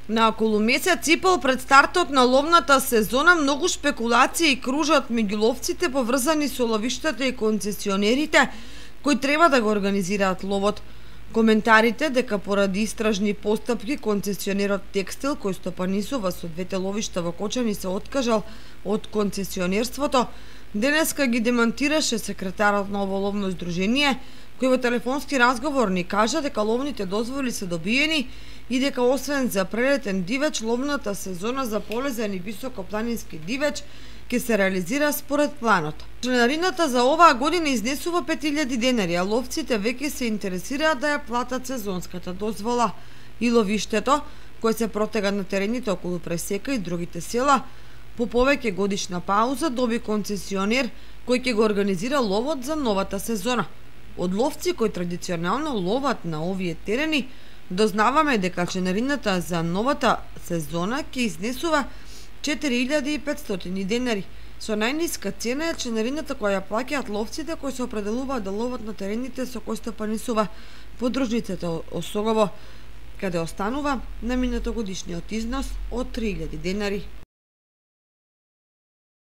На околу месец и пол пред стартот на ловната сезона многу шпекулации кружат меѓу ловците поврзани со ловиштата и концесионерите кои треба да го организираат ловот. Коментарите дека поради истражни постапки концесионерот Текстил кој стопанисува со двете ловишта во Кочани се откажал од концесионерството, денеска ги демантираше секретарот на ово ловно здружение, кој во телефонски разговор ни кажа дека ловните дозволи се добиени и дека освен за прелетен дивеч, ловната сезона за полезен и високопланински дивеч ќе се реализира според планот. Членарината за оваа година изнесува 5000 денари, а ловците веќе се интересираат да ја платат сезонската дозвола. И ловиштето, кое се протега на терените околу Пресека и другите села, по повеќе годишна пауза доби концесионер кој ќе го организира ловот за новата сезона. Од ловци кои традиционално ловат на овие терени, дознаваме дека членарината за новата сезона ќе изнесува 4500 денари. Со најниска цена е членарината која ја плаќаат ловците кои се определуваат да ловат на терените со кои стопанисува подружницата Осогово, каде останува на минатогодишниот износ од 3000 денари.